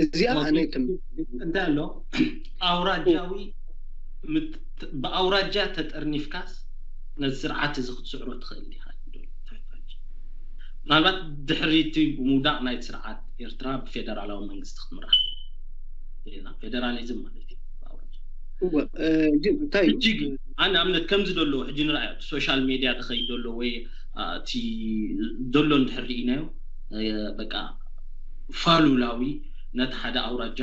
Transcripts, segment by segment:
እዚኣ ኣነ ትም እንታይ ኣሎ ኣውራጃዊ ብኣውራጃ ተጠርኒፍካስ ነዚ ስርዓት እዚ ክትስዕሮ ትኽእል ዲኻ? ምናልባት ድሕሪቲ ብምውዳቕ ናይቲ ስርዓት ኤርትራ ብፌደራላዊ መንግስቲ ክትምራሕ ፌደራሊዝም ማለት እዩ። እንታይ እጅግ ኣነ ኣብነት ከምዚ ደሎ ሕጂ ንርኣዮ ሶሻል ሜድያ ተኸይድ ደሎ ወይ እቲ ደሎ እንድሕር ርኢናዮ በቃ ፋሉላዊ ነቲ ሓደ ኣውራጃ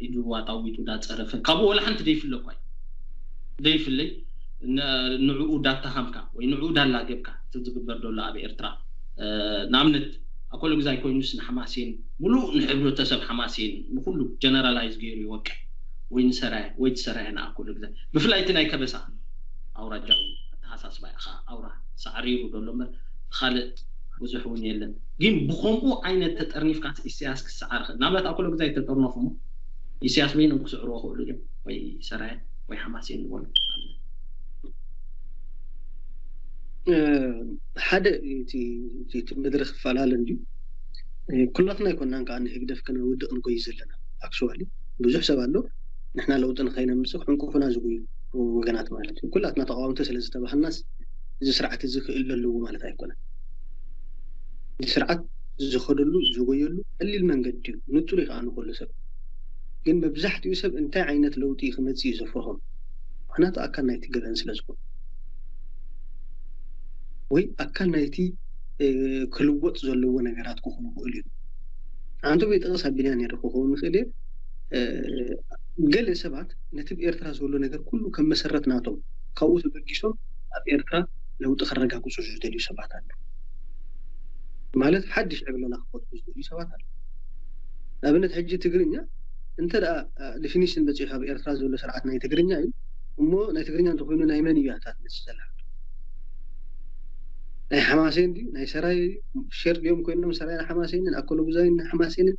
ኢዱ ኣጣዊጡ እንዳፀረፈ ካብኡ ወላ ሓንቲ ደይፍለ እኳ ደይፍለይ ንዕኡ ዳተሃምካ ወይ ንዕኡ ዳላገብካ እቲ ዝግበር ደሎ ኣብ ኤርትራ ንኣብነት ኣኮሎ ግዛይ ኮይኑስ ንሓማሴን ሙሉእ ንሕብረተሰብ ሓማሴን ንኩሉ ጀነራላይዝ ገይሩ ይወቅዕ ወይ ንሰራየ ወይ ትሰራየ ንኣኮሎ ግዛይ ብፍላይ እቲ ናይ ከበሳ ኣውራጃዊ ኣተሓሳስባ ኢኻ ኣውራ ሳዕሪሩ ደሎ እምበር ካልእ ብዙሕ እውን የለን። ግን ብኸምኡ ዓይነት ተጠርኒፍካ ኢሳያስ ክሰዓር ኽእል ናብነት ኣኮሎ ግዛይ ተጠርነፉ እሞ ኢሳያስ በይኖም ክስዕርዎ ክእሉ እዮም ወይ ሰራየ ወይ ሓማሴን ዝበሉ ሓደ እቲ መድረክ ይፈላለ እንድዩ። ኩላትና ኣይኮናን ከዓ ንህግደፍ ከነውድቕ ንጎይ ዘለና ኣክሽዋሊ ብዙሕ ሰብ ኣሎ ንሕና ለውጢ ንኸይነምፅእ ክዕንቁፉና ዝጉዩ ወገናት ማለት እዩ። ኩላትና ተቃወምቲ ስለ ዝተባህልናስ እዚ ስርዓት እዚ ክእል ኣለዎ ማለት ኣይኮነን። እዚ ስርዓት ዝኸደሉ ዝጎየሉ ቀሊል መንገዲ እዩ። ንፁር እዩ ከዓ ንኩሉ ሰብ። ግን መብዛሕትኡ ሰብ እንታይ ዓይነት ለውጢ ክመፅእ እዩ ዘፍርሆም? ምክንያቱ ኣካል ናይቲ ገበን ስለ ዝኾኑ ወይ ኣካል ናይቲ ክልወጥ ዘለዎ ነገራት ክኾኑ ክእሉ እዩ። ኣንቶ ቤጠቅስ ኣቢና ነር ክኸውን ንኽእል እየ። ገለ ሰባት ነቲ ብኤርትራ ዘሎ ነገር ኩሉ ከም መሰረት ናቶም ካብኡ ተበጊሶም ኣብ ኤርትራ ለውጢ ከረጋግፁ ዝደልዩ ሰባት ኣለ ማለት ሓድሽ ዕብለላ ክፈጥሩ ዝደልዩ ሰባት ኣለ። ንኣብነት ሕጂ ትግርኛ እንተ ደኣ ዲፊኒሽን በፂሑ ኣብ ኤርትራ ዘሎ ስርዓት ናይ ትግርኛ እዩ እሞ ናይ ትግርኛ እንተኮይኑ ናይ መን እዩ ኣታት መፅእ ዘላ ናይ ሓማሴን ድዩ ናይ ሰራይ ሸር ድዮም ኮይኖም ሰራይ ሓማሴንን ኣኮሎ ጉዛይን ሓማሴንን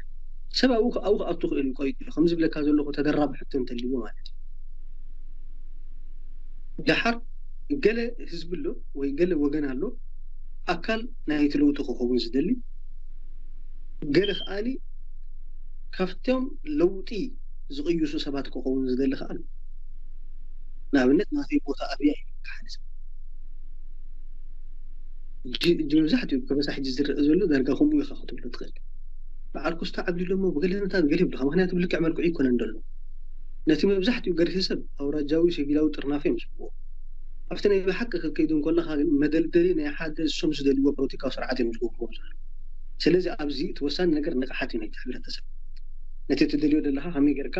ሰብ ኣብኡ ኣብኡ ክኣቱ ክእል እዩ ቆይጡ ከምዚ ብለካ ዘለኹ ተደራቢ ሕቶ እንተልዎ ማለት እዩ። ደሓር ገለ ህዝቢ ኣሎ ወይ ገለ ወገን ኣሎ ኣካል ናይቲ ለውጢ ክኸውን ዝደሊ ገለ ከኣኒ ካብቶም ለውጢ ዝቕይሱ ሰባት ክኸውን ዝደሊ ከኣ ኣሎ። ንኣብነት ናተይ ቦታ ኣብያ እዩ ሓደ ሰብ እጂ መብዛሕትኡ ከበሳ ሕጂ ዝረአ ዘሎ ዳርጋ ከምኡ ኢኻ ክትብሎ ትኽእል። በዓል ኮስታ ዓብዲ ሎሞ ብገለ ነታት ገለ ይብልካ ምክንያቱ ብልክዕ መልክዑ ይኮነን ዘሎ ነቲ መብዛሕትኡ ገርሂ ሰብ ኣውራጃዊ ሲቪላዊ ጥርናፈ እዮም ዝብዎ ኣብቲ ናይ ብሓቂ ክትከይዱ እንከለካ ግን መደልደሊ ናይ ሓደ እሶም ዝደልዎ ፖለቲካዊ ስርዓት እዮም ዝገብርዎ ዘሎ። ስለዚ ኣብዚ እቲ ወሳኒ ነገር ንቕሓት እዩ ናይቲ ሕብረተሰብ። ነቲ ትደልዮ ዘለካ ከመይ ጌርካ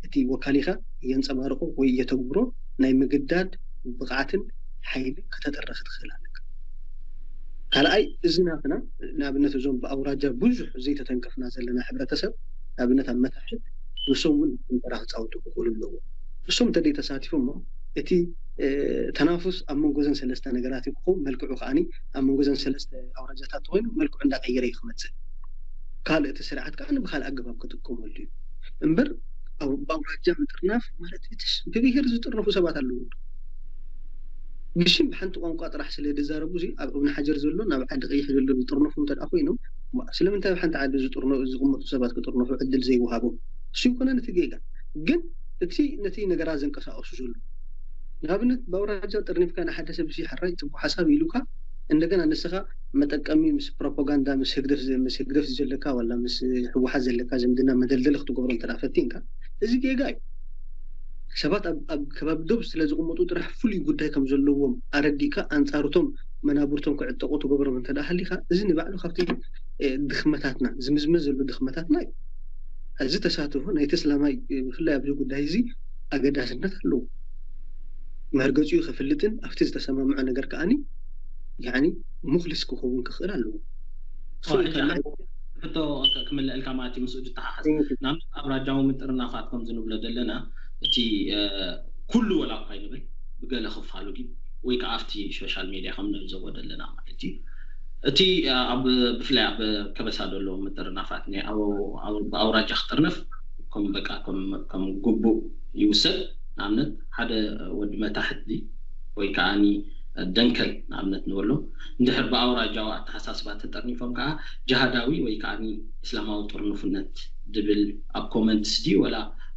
እቲ ወካሊካ የንፀባርቆ ወይ የተግብሮ ናይ ምግዳድ ብቕዓትን ሓይልን ከተጥርኽ ትኽእል ኣለካ። ካልኣይ እዚ ናትና ንኣብነት እዞም ብኣውራጃ ብዙሕ ዘይተተንከፍና ዘለና ሕብረተሰብ ንኣብነት ኣብ መታሕት ንሶም እውን ተራ ክፃወቱ ክኽእሉ ኣለዎ። እሶም እንተደይ ተሳቲፎ እሞ እቲ ተናፉስ ኣብ መንጎዘን ሰለስተ ነገራት ክኸውን መልክዑ ከዓኒ ኣብ መንጎዘን ሰለስተ ኣውራጃታት ተኮይኑ መልክዑ እንዳቀየረ እዩ ክመፅእ። ካልእ እቲ ስርዓት ከዓ ብካልእ ኣገባብ ክጥቀመሉ እዩ እምበር ብኣውራጃ ምጥርናፍ ማለት ብብሄር ዝጥርነፉ ሰባት ኣለዉ። ብሽም ብሓንቲ ቋንቋ ጥራሕ ስለ ዝዛረቡ ኣብ እብኒ ሓጀር ዘሎ ናብ ዓዲ ቀይሕ ዘሎ ዝጥርነፉ እንተ ኮይኖም ስለምንታይ ኣብ ሓንቲ ዓዲ ዝጥርነ ዝቕመጡ ሰባት ክጥርነፉ ዕድል ዘይወሃቦም እሱ ይኮነ ነቲ ጌጋ ግን እቲ ነቲ ነገራት ዘንቀሳቀሱ ዘሎ ንኣብነት ብኣውራጃ ጥርኒፍካ ንሓደ ሰብ ሲ ሕራይ ፅቡቅ ሓሳብ ኢሉካ እንደገና ንስኻ መጠቀሚ ምስ ፕሮፓጋንዳ ምስ ህግደፍ ምስ ህግደፍ ዘለካ ዋላ ምስ ህወሓት ዘለካ ዝምድና መደልደሊ ክትገብሮ እንተ ፈቲንካ እዚ ጌጋ እዩ። ሰባት ኣብ ከባቢ ዶብ ስለ ዝቕመጡ ጥራሕ ፍሉይ ጉዳይ ከም ዘለዎም ኣረዲእካ ኣንፃርቶም መናብርቶም ክዕጠቁ ትገብሮም እንተ ሃሊካ እዚ ንባዕሉ ካብቲ ድኽመታትና ዝምዝመዝ ዘሎ ድኽመታትና እዩ። እዚ ተሳትፎ ናይ ተስላማይ ብፍላይ ኣብዚ ጉዳይ እዚ ኣገዳስነት ኣለዎ። መርገፂኡ ከፍልጥን ኣብቲ ዝተሰማምዖ ነገር ከዓኒ ያኒ ሙክሊስ ክኸውን ክኽእል ኣለዎ። ሕቶ ክምልአልካ ማለት እዩ ምስኡ ዝተሓሓዝ ናብ ኣብራጃዊ ምጥርናፋት ከም ዝንብሎ ዘለና እቲ ኩሉ ወላ እኳ ይንብል ብገለ ክፋሉ ግን ወይ ከዓ ኣብቲ ሶሻል ሜድያ ከም ንዕዘቦ ዘለና ማለት እዩ እቲ ኣብ ብፍላይ ኣብ ከበሳ ዘሎ ምጥርናፋት ናይ ብኣውራጃ ክጥርነፍ ከም በቃ ከም ግቡእ ይውሰድ። ንኣብነት ሓደ ወዲ መታሕት ወይ ከዓ ደንከል ንኣብነት ንበሎ እንድሕር ብኣውራጃዊ ኣተሓሳስባ ተጠርኒፎም ከዓ ጅሃዳዊ ወይ ከዓ እስላማዊ ጥርንፉነት ድብል ኣብ ኮመንትስ ድዩ ወላ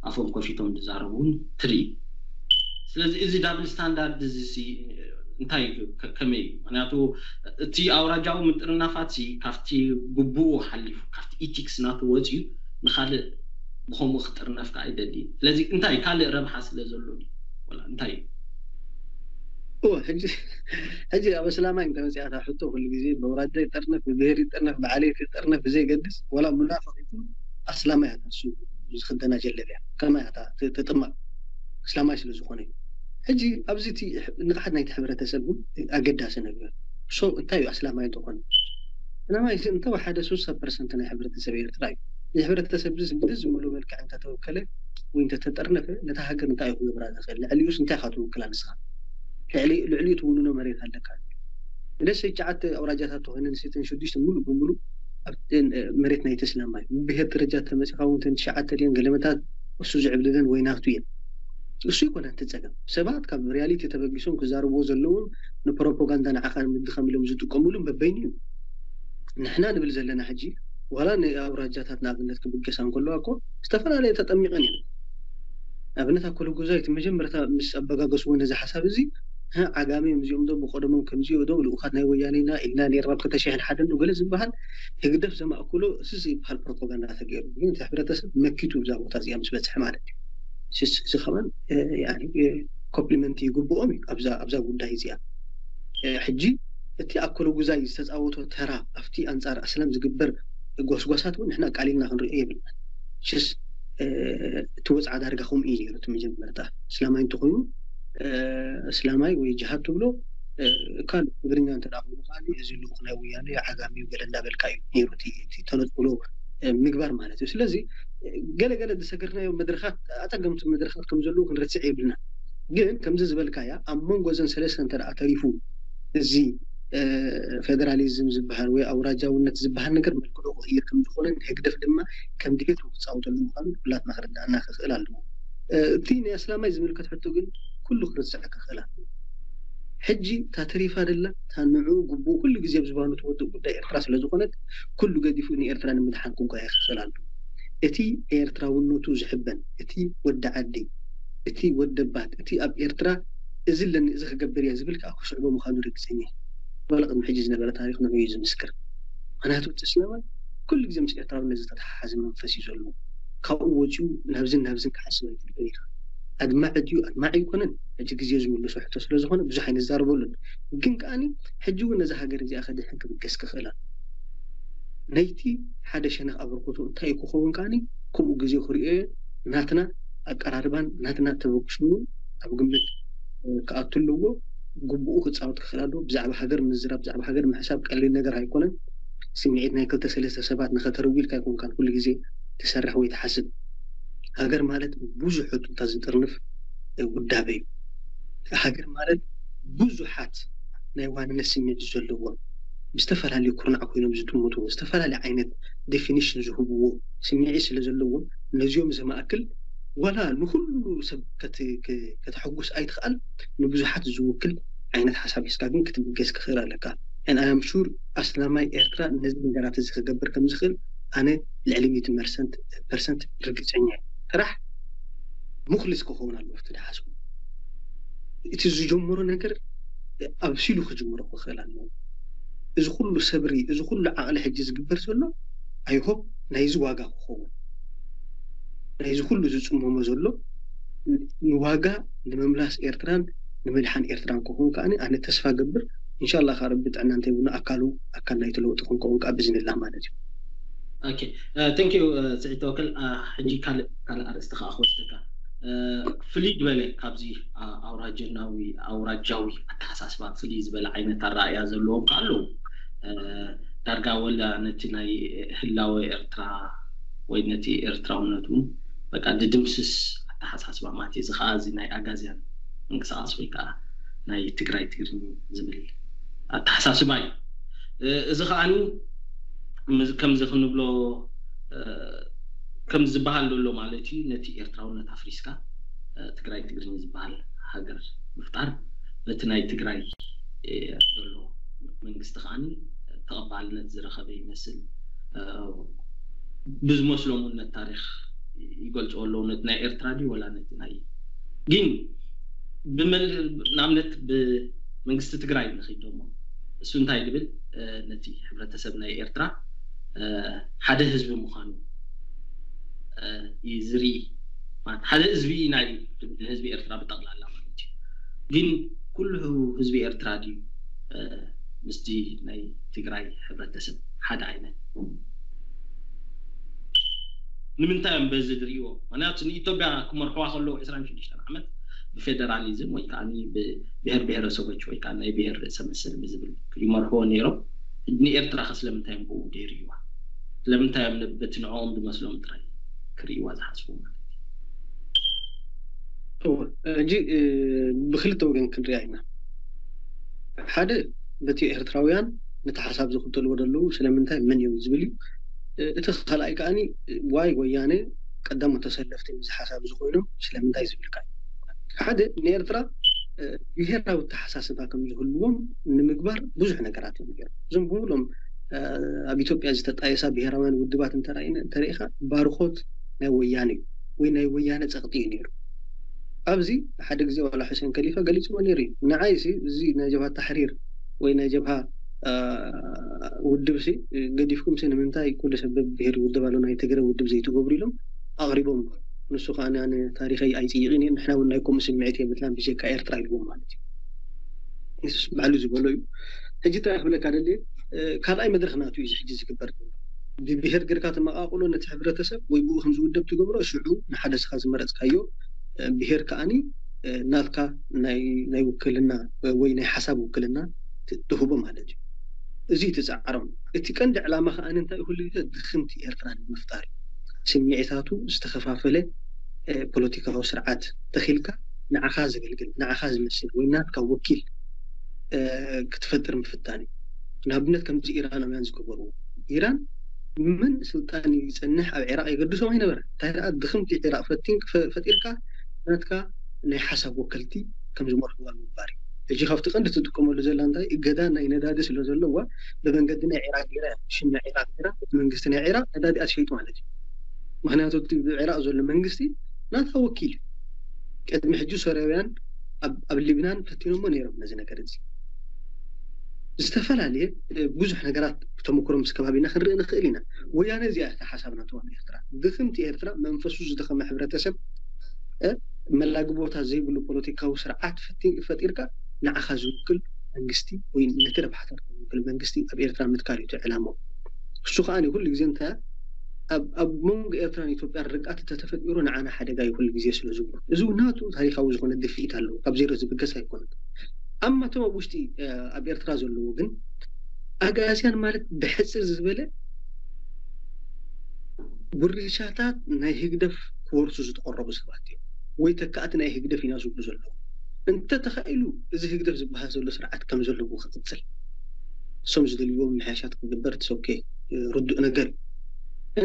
ኣፎም ከፊቶም ዝዛረቡ እውን ትርኢ። ስለዚ እዚ ዳብል ስታንዳርድ እዚ ሲ እንታይ እዩ? ከ- ከመይ እዩ? ምክንያቱ እቲ ኣውራጃዊ ምጥርናፋት ሲ ካብቲ ግቡኡ ሓሊፉ ካብቲ ኢቲክስ ናቱ ወፂኡ ንካልእ ብከምኡ ክጥርነፍ ከዓ ኣይደልይን። ስለዚ እንታይ ካልእ ረብሓ ስለ ዘሎ ድዩ? ወላ እንታይ እዩ? እወ ሕጂ ሕጂ ኣብ እስላማይ እንተመፅኣታ ሕቶ ኩሉ ግዜ በውራጃ ይጠርነፍ ብብሄር ይጠርነፍ ብዓሌት ይጠርነፍ ብዘይገድስ ወላ ሙናፍቅ ይኹን ኣስላማይ ኣታ እሱ ዝክደና ጀለብያ ከማይ ኣታ ትጥማቅ እስላማይ ስለ ዝኾነ እዩ። ሕጂ ኣብዚ እቲ ንቕሓት ናይቲ ሕብረተሰብ እውን ኣገዳሲ ነገር ሶ እንታይ እዩ ኣስላማይ እንተኾነ ኣስላማይ እዚ እንተወሓደ ሱሳ ፐርሰንት ናይ ሕብረተሰብ ኤርትራ እዩ። እዚ ሕብረተሰብ እዚ ብደስ ዝመሎ መልክዕ እንተተወከለ ወይ እንተተጠርነፈ ነታ ሃገር እንታይ እዩ ክገብራ ዝኽእል? ልዕሊኡስ እንታይ ኢኻ ትውክላ ንስኻ? ልዕሊ ልዕሊኡ ትውንኖ መሬት ኣለካ። ንደሰ ሸዓተ ኣውራጃታት ተኾይነን ሴተን ሽዱሽተ ሙሉእ ብሙሉእ ኣብ መሬት ናይ ተስላማ እዩ። ብብሄር ደረጃ ተመፂኻ እውን ተን ትሽዓተ ድየን ገለመታት እሱ ዝዕብልለን ወይ ናቱ እየን። እሱ ይኮነ እቲ ፀገም ሰባት ካብ ሪያሊቲ ተበጊሶም ክዛረብዎ ዘለዎም ንፕሮፓጋንዳ ንዓኻ ንምድኻም ኢሎም ዝጥቀምሉ በበይኑ እዩ። ንሕና ንብል ዘለና ሕጂ ዋላ ንኣውራጃታት ንኣብነት ክብገሳ እንከለዋ እኮ ዝተፈላለየ ተጠሚቐን እዮም። ኣብነት ኣኮሎ ጉዛይ እቲ መጀመርታ ምስ ኣበጋገስዎ ነዚ ሓሳብ እዚ "ህ፣ ዓጋመ እዮም እዚኦም ዶ ብቀደሞም ከምዚኦ ዶ ልኡኻት ናይ ወያኔና ኢልና ነርና ኣብ ክልተ ሽሕን ሓደን ዶ ገለ ዝበሃል ህግደፍ ዘማእክሎ እዚ ዝበሃል ፕሮፓጋንዳ ተገይሩ ግን እቲ ሕብረተሰብ መኪቱ እዛ ቦታ እዚኣ ምስ በፅሐ ማለት እዩ። ስስ- እዚ ከማን ኮምፕሊመንት ይግብኦም እዩ ኣብዛ ኣብዛ ጉዳይ እዚኣ። እ፣ ሕጂ እቲ ኣኮሎ ጉዛይ ዝተፃወቶ ተራ ኣብቲ ኣንፃር ኣስላም ዝግበር ጎስጓሳት እውን ንሕና ቃሊልና ክንሪኦ የብልና። ሽስ እቲ ወፅዓ ዳርጋ ከምኡ እዩ ነይሩ እቲ መጀመርታ እስላማይ እንተኮይኑ እስላማይ ወይ ጅሃድ ትብሎ ካልእ ትግርኛ እንተ ኮይኑ ከዓ እዚ ልኡክ ናይ ወያነ ዓጋሚ ገለ እንዳበልካ እዩ ነይሩ እቲ ተነፅሎ ምግባር ማለት እዩ። ስለዚ ገለ ገለ ዝሰገርናዮ መድረካት ኣፀገምቲ መድረካት ከም ዘለዉ ክንረስዕ የብልና። ግን ከምዚ ዝበልካያ ኣብ መንጎ እዘን ሰለስተ እንተ ተሪፉ እዚ ፌደራሊዝም ዝበሃል ወይ ኣውራጃውነት ዝበሃል ነገር መልክዑ ክቕይር ከም ዝኾነን ህግደፍ ድማ ከም ድሌቱ ክፃወተሉ ምዃኑ ኩላትና ክርዳእና ክኽእል ኣለዎ። እቲ ናይ ኣስላማይ ዝምልከት ሕቶ ግን ኩሉ ክርሳዕ ክኽእል ኣለዎ። ሕጂ እታ ተሪፋ ደላ እታ ንዕኡ ግቡኡ ኩሉ ግዜ ኣብ ዝባኑ ትወድእ ጉዳይ ኤርትራ ስለ ዝኾነት ኩሉ ገዲፉ ንኤርትራ ንምድሓን ክጓየ ክኽእል ኣለዎ። እቲ ኤርትራውነቱ ዝሕበን እቲ ወዲ ዓዲ እቲ ወደባት እቲ ኣብ ኤርትራ እዚ ኣለኒ እዚ ክገብር እየ ዝብል ከዓ ክስዕቦ ምዃኑ ርግፀኛ እየ። ዋላ ቅድሚ ሕጂ ዝነበረ ታሪኽ ንዑ እዩ ዝምስክር። ምክንያቱ እቲ እስላማይ ኩሉ ግዜ ምስ ኤርትራውነት ዝተተሓሓዘ መንፈስ እዩ ዘለዎ። ካብኡ ወፂኡ ናብዝን ናብዝን ክሓስብ ኣይትልእን ኢኻ። ኣድማዒ ድዩ ኣድማዒ ኣይኮነን። ሕጂ ግዜ ዝምልሶ ሕቶ ስለ ዝኾነ ብዙሕ ኣይንዛረበሉን። ግን ከዓኒ ሕጂ እውን ነዛ ሃገር እዚኣ ከድሕን ክብገስ ክኽእል ኣሎ። ነይቲ ሓደ ሸነኽ ኣበርክቶ እንታይ እዩ ክኸውን ከዓኒ ከምኡ ግዜ ክሪኦ እየ ናትና ኣቀራርባን ናትና ተበግሶን ኣብ ግምት ክኣቱ ኣለዎ። ግቡኡ ክፃወት ክኽእል ኣለዎ። ብዛዕባ ሃገር ምዝራብ ብዛዕባ ሃገር ምሕሳብ ቀሊል ነገር ኣይኮነን። ስምዒት ናይ ክልተ ሰለስተ ሰባት ንኸተርዊ ኢልካ ኣይኮንካን ኩሉ ግዜ ትሰርሕ ወይ ትሓስብ። ሃገር ማለት ብዙሕ ሕቶታት ዝጥርንፍ ውዳበ እዩ። ሃገር ማለት ብዙሓት ናይ ዋንነት ስምዒት ዘለዎም ብዝተፈላለዩ ኩርናዕ ኮይኖም ዝጥምትዎ ዝተፈላለየ ዓይነት ዴፊኒሽን ዝህብዎ ስምዒት ስለ ዘለዎም ነዚኦም ዘማእክል ዋላ ንኩሉ ሰብ ከተሐጉስ ኣይትኽኣል ንብዙሓት ዝውክል ዓይነት ሓሳብ ሒዝካ ግን ክትብገስ ክኽእል ኣለካ። ኣም ሹር ኣስላማይ ኤርትራ ነዚ ነገራት እዚ ክገብር ከም ዝኽእል ኣነ ልዕሊ ሚእቲ ፐርሰንት ርግፀኛ እየ። ጥራሕ ሙክሊስ ክኸውን ኣለዎ እቲ ዝሓስቡ እቲ ዝጀመሮ ነገር ኣብሲሉ ክጅምሮ ክኽእል ኣለዎ። እዚ ኩሉ ሰብሪ እዚ ኩሉ ዓቕሊ ሕጂ ዝግበር ዘሎ ኣይሆፕ ናይዚ ዋጋ ክኸውን ናይዚ ኩሉ ዝፅመሞ ዘሎ ንዋጋ ንምምላስ ኤርትራን ንምድሓን ኤርትራን ክኸውን ከዓ ኣነ ተስፋ ገብር። እንሻላ ከዓ ረቢ ጥዕና እንተይብሉ ኣካሉ ኣካል ናይቲ ለውጢ ክንከውን ከዓ ብዝንላ ማለት እዩ። ኦኬ፣ ቴንክ ዩ ስዒድ ተወከል። ሕጂ ካልእ ካልእ ኣርእስቲ ከዓ ክወስደካ። ፍልይ ዝበለ ካብዚ ኣውራጀናዊ ኣውራጃዊ ኣተሓሳስባ ፍልይ ዝበለ ዓይነት ኣረኣእያ ዘለዎም ከዓ ኣለዉ። ዳርጋ ወላ ነቲ ናይ ህላወ ኤርትራ ወይ ነቲ ኤርትራውነት እውን በቃ ድድምስስ ኣተሓሳስባ ማለት እዩ። እዚ ከዓ እዚ ናይ ኣጋዝያን ምንቅስቃስ ወይ ከዓ ናይ ትግራይ ትግርኝ ዝብል ኣተሓሳስባ እዩ። እዚ ከዓኒ ከምዚ ክንብሎ ከም ዝበሃል ዘሎ ማለት እዩ። ነቲ ኤርትራውነት ኣፍሪስካ ትግራይ ትግርኝ ዝበሃል ሃገር ምፍጣር በቲ ናይ ትግራይ ዘሎ መንግስቲ ከዓኒ ተቐባልነት ዝረኸበ ይመስል። ብዝመስሎም እውን ነቲ ታሪኽ ይገልፅዎ ኣለዉ። ነቲ ናይ ኤርትራ ድዩ ወላ ነቲ ናይ ግን ብመል ንኣብነት ብመንግስቲ ትግራይ ንኽይድ ደሞ እሱ እንታይ ዝብል ነቲ ሕብረተሰብ ናይ ኤርትራ ሓደ ህዝቢ ምዃኑ እዩ ዝርኢ። ማለት ሓደ ህዝቢ ኢና እዩ ዝብል ንህዝቢ ኤርትራ ብጠቕላላ ማለት እዩ። ግን ኩሉ ህዝቢ ኤርትራ ድዩ ምስቲ ናይ ትግራይ ሕብረተሰብ ሓደ ዓይነት? ንምንታይ እዮም በዚ ዝርእይዎ? ምክንያቱ ንኢትዮጵያ ክመርሕዋ ከለዉ ዕስራን ሽዱሽተን ዓመት ብፌደራሊዝም ወይ ከዓ ብብሔር ብሔረሰቦች ወይ ከዓ ናይ ብሔር ርእሰ መሰል ብዝብል ይመርሕዎ ነይሮም። ንኤርትራ ከ ስለምንታይ እዮም ብኡ ዘይርእይዋ? ስለምንታይ እዮም በቲ ንዕኦም ዝመስሎም ጥራይ ክርእይዋ ዝሓስቡ ማለት እዩ? ሕጂ ብክልተ ወገን ክንሪኣ ኢና። ሓደ በቲ ኤርትራውያን ነቲ ሓሳብ ዝኽተልዎ ዘለዉ ስለምንታይ መን እዮም ዝብል እዩ። እቲ ካልኣይ ከዓኒ ዋይ ወያነ ቀዳሞት ተሰለፍቲ እዚ ሓሳብ እዚ ኮይኖም ስለምንታይ ዝብልካ እዩ። ሓደ ንኤርትራ ብሄራዊ ኣተሓሳስባ ከም ዝህልዎም ንምግባር ብዙሕ ነገራት እዮም ገይሮም። እዞም ብምሎም ኣብ ኢትዮጵያ ዝተጣየሳ ብሄራውያን ውድባት እንተረኢኻ ባርኾት ናይ ወያነ እዩ ወይ ናይ ወያነ ፀቕጢ እዩ ነይሩ። ኣብዚ ሓደ ግዜ ዋላ ሕሴን ከሊፋ ገሊፅዎ ነይሩ እዩ። ንዓይ ሲ እዚ ናይ ጀብሃ ታሕሪር ወይ ናይ ጀብሃ ውድብ ሲ ገዲፍኩም ሲ ንምንታይ ኩሉ ሰብ ብሄር ይውደብ ኣሎ ናይ ትግረ ውድብ ዘይትገብሩ ኢሎም ኣቕሪቦም። ንሱ ከዓ ኣነ ታሪኸይ ኣይፅይቕን እየ፣ ንሕና እውን ናይ ከምኡ ስምዒት የብልናን ብጀካ ኤርትራ ኢልዎም ማለት እዩ። ንሱስ ባዕሉ ዝበሎ እዩ። ሕጂ እንታይ ክብለካ ደልየ ካልኣይ መድረኽ ናቱ እዩ ሕጂ ዝግበር። ብብሄር ገርካ ተመቃቅሎ ነቲ ሕብረተሰብ ወይ ብኡ ከም ዝውደብ ትገብሮ ሽዑ ንሓደ ስኻ ዝመረፅካዮ ብሄር ከዓኒ ናትካ ናይ ውክልና ወይ ናይ ሓሳብ ውክልና ትህቦ ማለት እዩ። እዚ ትፃዕሮም እቲ ቀንዲ ዕላማ ከዓ እንታይ ኩሉ ግዜ ድኽምቲ ኤርትራ ንምፍጣር ስምዒታቱ ዝተኸፋፈለ ፖለቲካዊ ስርዓት ተኺልካ ንዓኻ ዘገልግል ንዓኻ ዝመስል ወይ ናትካ ወኪል ክትፈጥር ምፍታን እዩ። ንኣብነት ከምዚ ኢራናውያን ዝገበርዎ ኢራን ምን ስልጣን ይፀንሕ ኣብ ዒራቅ የገድሶም ኣይነበረ እንታይ ደኣ ድኽምቲ ዒራቅ ፈቲን ፈጢርካ ናትካ ናይ ሓሳብ ወከልቲ ከም ዝመርሕዋ ምግባር እዩ። ሕጂ ካብቲ ቀንዲ ትጥቀመሉ ዘላ እንታይ እገዳ ናይ ነዳዲ ስለ ዘለዋ ብመንገዲ ናይ ዒራቅ ገይራ ሽም ናይ ዒራቅ ገይራ እቲ መንግስቲ ናይ ዒራቅ ነዳዲኣ ትሸይጡ ማለት እዩ። ምክንያቱ እቲ ዒራቅ ዘሎ መንግስቲ ናታ ወኪል እዩ። ቅድሚ ሕጂ ሶርያውያን ኣብ ሊብናን ፈቲኖሞ ነይሮም ነዚ ነገር እዚ። ዝተፈላለየ ብዙሕ ነገራት ብተመክሮ ምስ ከባቢና ክንርኢ ንኽእል ኢና። ወያነ እዚኣ እታ ሓሳብ ናተዋ ኤርትራ ድኽምቲ ኤርትራ መንፈሱ ዝደኸመ ሕብረተሰብ መላግቦታት ዘይብሉ ፖለቲካዊ ስርዓት ፈጢርካ ንዓኻ ዝውክል መንግስቲ ወይ ነቲ ረብሓታትካ ዝውክል መንግስቲ ኣብ ኤርትራ ምትካል እዩ እቲ ዕላምኡ። እሱ ከዓ ኩሉ ግዜ እንታይ ኣብ መንጎ ኤርትራን ኢትዮጵያን ርግኣት እንተተፈጢሩ ንዓና ሓደጋ እዩ ኩሉ ግዜ ስለ ዝብሉ እዚ ናቱ ታሪካዊ ዝኾነ ድፍኢት ኣለዎ። ካብ ዜሮ ዝብገስ ኣይኮነን። ኣብ ማቶም ኣብ ውሽጢ ኣብ ኤርትራ ዘለዎ ግን ኣግኣዝያን ማለት ብሕፅር ዝበለ ጉርሻታት ናይ ህግደፍ ክወርሱ ዝተቐረቡ ሰባት እዮም ወይ ተካእቲ ናይ ህግደፍ ኢና ዝብሉ ዘለዉ። እንተተኻኢሉ እዚ ህግደፍ ዝበሃል ዘሎ ስርዓት ከም ዘለዎ ክቕፅል እሶም ዝደልይዎም ምሕያሻት ክግበር ትሰኬ ርዱእ ነገር እዩ።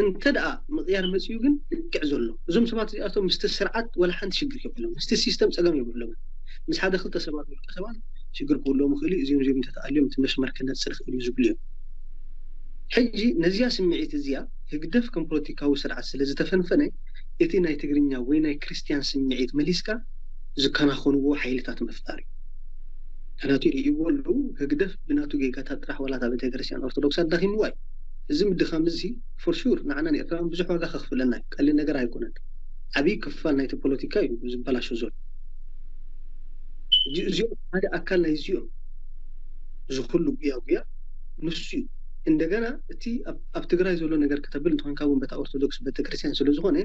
እንተ ደኣ ምቕያር መፅኡ ግን ልክዕ ዘሎ እዞም ሰባት እዚኣቶም ምስቲ ስርዓት ወላ ሓንቲ ሽግር የብሎም ምስቲ ሲስተም ፀገም የብሎም። ምስ ሓደ ክልተ ሰባት ውልቀ ሰባት ሽግር ክህልዎም ይኽእል እዩ። እዚኦም እዚኦም እንተተኣልዮም እቲ መስመር ክነፅር ይኽእል እዩ ዝብሉ እዮም። ሕጂ ነዚኣ ስምዒት እዚኣ ህግደፍ ከም ፖለቲካዊ ስርዓት ስለ ዝተፈንፈነ እቲ ናይ ትግርኛ ወይ ናይ ክርስትያን ስምዒት መሊስካ ዝከናኸንዎ ሓይልታት ምፍጣር እዩ። ምክንያቱ ይርእይዎ ኣለዉ ህግደፍ ብናቱ ጌጋታት ጥራሕ ዋላ እታ ቤተክርስትያን ኦርቶዶክስ ኣዳኺምዋ እዩ። እዚ ምድኻም እዚ for sure ንዓና ንኤርትራውያን ብዙሕ ዋጋ ከኽፍለና እዩ። ቀሊል ነገር ኣይኮነን። ዓብዪ ክፋል ናይቲ ፖለቲካ እዩ ዝበላሾ ዘሎ። እዚኦም ሓደ ኣካል ናይ እዚኦም ዝኩሉ ጉያ ጉያ ንሱ እዩ። እንደገና እቲ ኣብ ትግራይ ዘሎ ነገር ከተብል እንተኾንካ እውን በታ ኦርቶዶክስ ቤተክርስትያን ስለ ዝኾነ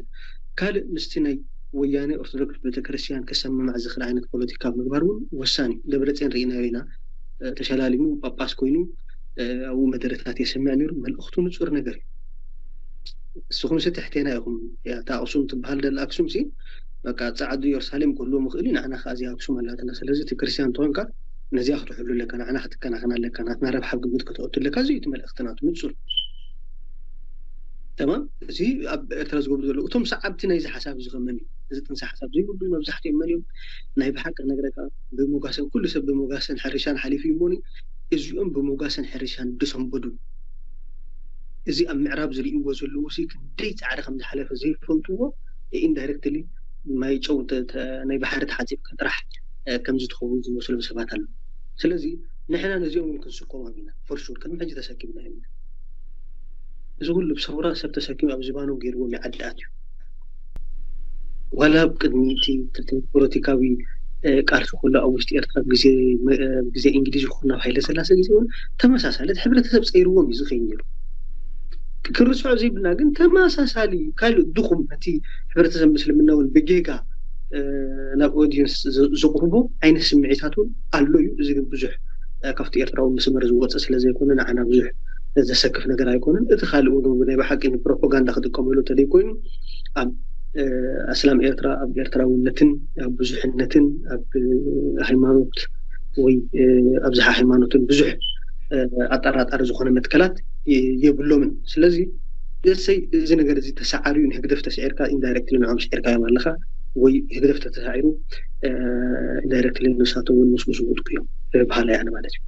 ካልእ ምስቲ ናይ ወያነ ኦርቶዶክስ ቤተክርስትያን ክሰምማዕ ዝኽእል ዓይነት ፖለቲካ ምግባር እውን ወሳኒ እዩ። ደብረፅዮን ርኢናዮ ኢና። ተሸላሊሙ ጳጳስ ኮይኑ ኣብኡ መደረታት የስምዕ ነይሩ። መልእኽቱ ንፁር ነገር እዩ። ንስኹም ሲ ትሕቴና ኢኹም። እታ ኣክሱም ትበሃል ደላ ኣክሱም ሲ በቃ ፃዕዱ ኢየሩሳሌም ክህልዎም ይኽእል እዩ። ንዓና ከዓ እዚኣ ኣክሱም ኣላትና። ስለዚ እቲ ክርስትያን እንተኾንካ ነዚኣ ክትሕሉ ኣለካ፣ ንዓና ክትከናኸና ኣለካ፣ ናትና ረብሓ ኣብ ግምት ከተእቱ ኣለካ። እዚ እዩ እቲ መልእኽቲ ናቱ ንፁር። ተማም። እዚ ኣብ ኤርትራ ዝገብሩ ዘለዉ እቶም ሰዓብቲ ናይዚ ሓሳብ እዚ ከመን እዩ? እዚ ጥንሲ ሓሳብ ዘይብሉ መብዛሕትኦም መን እዮም? ናይ ብሓቂ ክነግረካ ብሞጋሰን ኩሉ ሰብ ብሞጋሰን ሕርሻን ሓሊፉ እዩ እሞኒ እዚኦም ብሞጋሰን ሕርሻን ዝሰንበዱ እዚ ኣብ ምዕራብ ዝርእይዎ ዘለዉ ሲ ክንደይ ፃዕሪ ከም ዝሓለፈ ዘይፈልጥዎ ኢንዳይረክትሊ ማይ ጨው ናይ ባሕሪ ተሓፂብካ ጥራሕ ከምዚ ትኸውን ዝመስሎም ሰባት ኣለዉ። ስለዚ ንሕና ነዚኦም እውን ክንስቆሞም ኢና። ፎርሹር ቅድሚ ሕጂ ተሰኪምና ኢና። እዚ ኩሉ ብሰውራ ሰብ ተሰኪሙ ኣብ ዝባኖም ገይርዎም ይዓድኣት እዩ። ዋላ ኣብ ቅድሚ እቲ ፖለቲካዊ ቃልሲ ኩሉ ኣብ ውሽጢ ኤርትራ ግዜ ግዜ እንግሊዝ ይኹን ኣብ ሃይለ ስላሴ ግዜ እውን ተመሳሳሊ እቲ ሕብረተሰብ ፀይርዎም እዩ ዝኸይድ ነይሩ። ክርስዖ ዘይብልና ግን ተመሳሳሊ ካልእ ድኹም ነቲ ሕብረተሰብ ምስልምና እውን ብጌጋ ናብ ኦዲየንስ ዘቕርቦ ዓይነት ስምዒታት እውን ኣሎ እዩ። እዚ ግን ብዙሕ ካብቲ ኤርትራዊ መስመር ዝወፀ ስለ ዘይኮነ ንዓና ብዙሕ ዘሰክፍ ነገር ኣይኮነን። እቲ ካልእ እውን ናይ ብሓቂ ንፕሮፓጋንዳ ክጥቀመሉ እንተደይ ኮይኑ ኣብ ኣስላም ኤርትራ ኣብ ኤርትራውነትን ኣብ ብዙሕነትን ኣብ ሃይማኖት ወይ ኣብዝሓ ሃይማኖትን ብዙሕ ኣጠራጣሪ ዝኾነ መትከላት የብሎምን። ስለዚ እሰይ እዚ ነገር እዚ ተሰዓርዩ ንህግደፍ ተስዒርካ ኢንዳይረክትሊ ንዖም ስዒርካዮም ኣለኻ ወይ ህግደፍ ተተሳዒሩ ኢንዳይረክትሊ ንሳቶም እውን ምስኡ ዝወድቁ እዮም ብሃላይ ኣነ ማለት እዩ።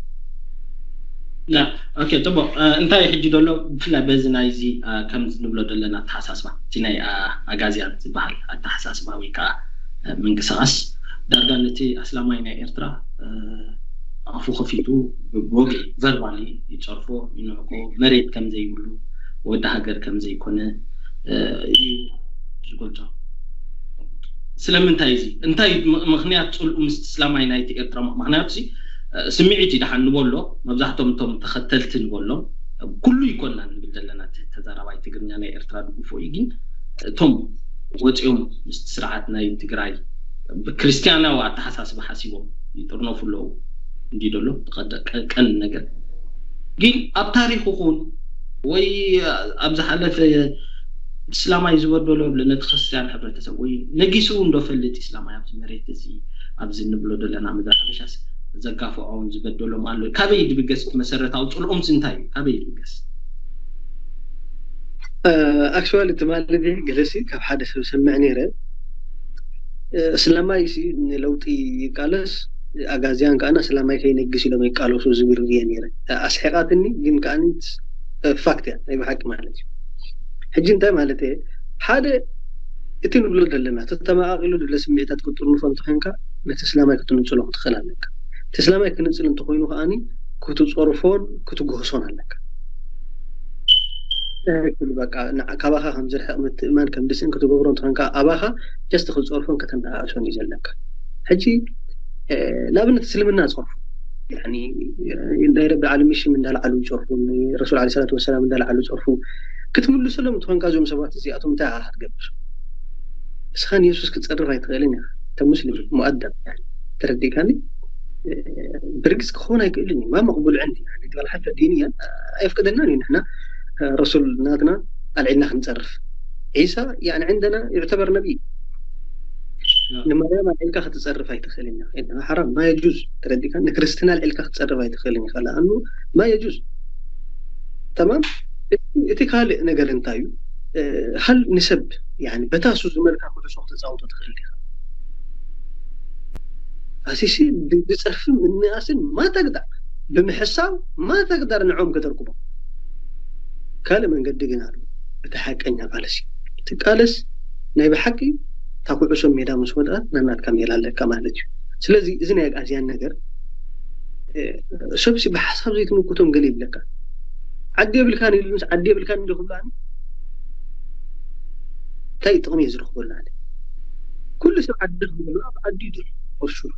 ኦኬ፣ ፅቡቅ። እንታይ ሕጂ ዘሎ ብፍላይ በዚ ናይዚ ከም ንብሎ ዘለና ኣተሓሳስባ እቲ ናይ ኣጋዝያን ዝበሃል ኣተሓሳስባ ወይ ከዓ ምንቅስቃስ ዳርጋ ነቲ ኣስላማይ ናይ ኤርትራ ኣፉ ከፊቱ ብወግዒ ቨርባሊ ይፀርፎ፣ ይንዕቆ፣ መሬት ከም ዘይብሉ፣ ወዲ ሃገር ከም ዘይኮነ እዩ ዝገልጾ። ስለምንታይ እዚ እንታይ ምክንያት ፅልኡ ምስ እስላማይ ናይቲ ኤርትራ ምክንያቱ ስምዒት ይደሓን ንበሎ። መብዛሕቶም እቶም ተኸተልቲ ንበሎም ኩሉ ይኮና ንብል ዘለና ተዛራባይ ትግርኛ ናይ ኤርትራ ድግፎ እዩ። ግን እቶም ወፂኦም ምስቲ ስርዓት ናይ ትግራይ ብክርስትያናዊ ኣተሓሳስባ ሓሲቦም ይጥርነፉ ኣለዉ እንዲ ደሎ ቀን ነገር ግን ኣብ ታሪክ ይኹን ወይ ኣብ ዝሓለፈ እስላማይ ዝበደሎ ነቲ ክርስትያን ሕብረተሰብ ወይ ነጊሱ እንዶ ፈልጥ እስላማይ ኣብዚ መሬት እዚ ኣብዚ ንብሎ ዘለና ምድሪ ሓበሻስ ዘጋፍዖም ዝበደሎም ኣሎ። ካበይ ድብገስ እቲ መሰረታዊ ፅልኦም እንታይ እዩ? ካበይ ድብገስ? ኣክቹዋሊ ትማሊ ገለሲ ካብ ሓደ ሰብ ሰምዕ ነይረ። እስላማይ ሲ ንለውጢ ይቃለስ፣ ኣጋዚያን ከዓና እስላማይ ከይነግስ ኢሎም ይቃለሱ ዝብል ርየ ነይረ። ኣስሒቃትኒ ግን ከዓኒ ፋክት እያ ናይ ብሓቂ ማለት እዩ። ሕጂ እንታይ ማለት እየ ሓደ እቲ ንብሎ ዘለና ተተመቃቂሉ ድለ ስምዒታት ክትጥርንፎ እንተኮንካ ነቲ እስላማይ ክትንፅሎ ክትኽእል ኣለካ። እቲ እስላማይ ክንፅል እንተኮይኑ ከዓኒ ክትፀርፎን ክትግህሶን ኣለካ። ትክክል በቃ ካባኻ ከም ዝርሕቕ ምትእማን ከም ድስን ክትገብሮ እንተኮንካ ኣባኻ ጀስት ክትፀርፎን ከተነኣእሶን እዩ ዘለካ። ሕጂ ንኣብነት እስልምና ፀርፉ ናይ ረቢ ዓለሚን ሽም እንዳልዓሉ ይፀርፉ፣ ረሱል ዓለይሂ ሰላቱ ወሰላም እንዳልዓሉ ይፀርፉ ክትምልሰሎም እንተኮንካ እዞም ሰባት እዚኣቶም እንታይ ኣኻ ክትገብር? እስኻ ንየሱስ ክትፀርፍ ኣይትኽእልን ኢኻ። እተ ሙስሊም ሙኣደብ ተረዲእካኒ? ብርግፅ ክኸውን ኣይክእልን እዩ። ማ መቕቡል ዕንዲ በል ሓፈ ዲንያ ኣይፍቅደልናን እዩ። ንሕና ረሱል ናትና ኣልዒልና ክንፀርፍ ዒሳ ያኒ ዕንደና ይዕተበር ነቢ ንማርያም ኣልዒልካ ክትፀርፍ ኣይትኽእልን ኢኻ። ሓራም ማ የጁዝ ተረዲእካ? ንክርስትና ኣልዒልካ ክትፀርፍ ኣይትኽእልን ኢኻ። ለኣኑ ማ የጁዝ ተማም። እቲ ካልእ ነገር እንታይ እዩ? ሃል ንሰብ በታ እሱ ዝመልካ ኩዕሶ ክትፃወቶ ትኽእል ኢኻ። ኣሲሲ ብፀርፊ ምንኣስን ማተግዳ ብምሕሳብ ማተግዳር ንዖም ከተርክቦም ካልእ መንገዲ ግን ኣሎ። እቲ ሓቀኛ ቃለሲ ትቃለስ ናይ ብሓቂ እታ ኩዕሶ ሜዳ ምስ ወድኣት ናናትካ ሜላ ኣለካ ማለት እዩ። ስለዚ እዚ ናይ ኣግኣዝያን ነገር ሰብሲ ብሓሳብ ዘይትምክቶም ገለ ይብለካ። ዓዲ የብልካን ኢሉ ምስ ዓዲ የብልካን እንዶ ክብላኒ እንታይ ጥቕሚ እየ ዝረኽበሉ ኣነ? ኩሉ ሰብ ዓዲ ክብለሉ ኣብ ዓዲ ዶ ፎርሹር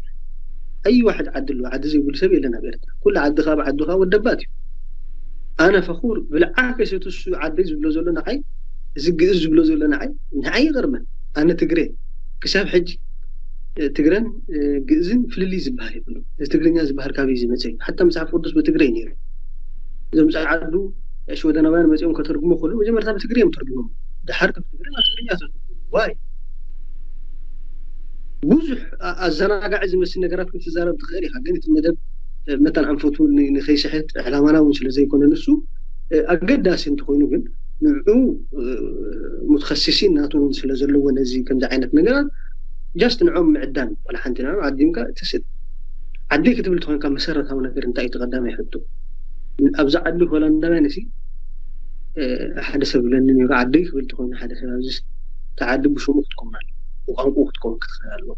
ኣይ ዋሕድ ዓዲ ኣለዎ። ዓዲ ዘይብሉ ሰብ የለን ኣብ ኤርትራ። ኩሉ ዓዲ ካብ ዓዲ ካብ ወደባት እዩ። ኣነ ፈኹር ብልዓከ ሰትሱ ዓደይ ዝብሎ ዘሎ ንዓይ እዚ ግእዝ ዝብሎ ዘሎ ንዓይ ንዓይ ይቐርመን። ኣነ ትግሬ ክሳብ ሕጂ ትግረን ግእዝን ፍልልይ ዝበሃል የብሉ። እዚ ትግርኛ ዝበሃል ካበይ ዝመፀ እዩ? ሓታ መፅሓፍ ቅዱስ ብትግረ እዩ ነይሩ። እዞም ፀዓዱ ሽወደናውያን መፂኦም ከተርጉሞ ከሉ መጀመርታ ብትግረ እዮም ተርጉሞም። ድሓር ካብ ትግረ ናብ ትግርኛ ተርጉሞ ዋይ ብዙሕ ኣዘናጋዒ ዝመስል ነገራት ክትዛረብ ትኽእል ኢኻ፣ ግን እቲ መደብ መታን ኣንፈቱ ንኸይስሕት ዕላማና እውን ስለ ዘይኮነ ንሱ ኣገዳሲ እንተኮይኑ ግን ንዑ ሙተኸሲሲን ናቱ እውን ስለ ዘለዎ ነዚ ከምዚ ዓይነት ነገራት ጃስት ንዖም ምዕዳን ዋላ ሓንቲ ንዖም ዓዲምካ ትስድ ዓዲ ክትብል ተኮንካ መሰረታዊ ነገር እንታይ እዩ ተቀዳማይ ሕቶ ኣብዚ ዓዲ ሆላንዳውያን ሲ ሓደ ሰብ ብለኒ ነይሩ፣ ዓደይ ክብል ተኮይኑ ሓደ ሰብ ኣብዚ ተዓዲ ብሽሙ ክትከውን ኣሎ፣ ብቋንቁ ክትከውን ክትኽእል ኣለዎ።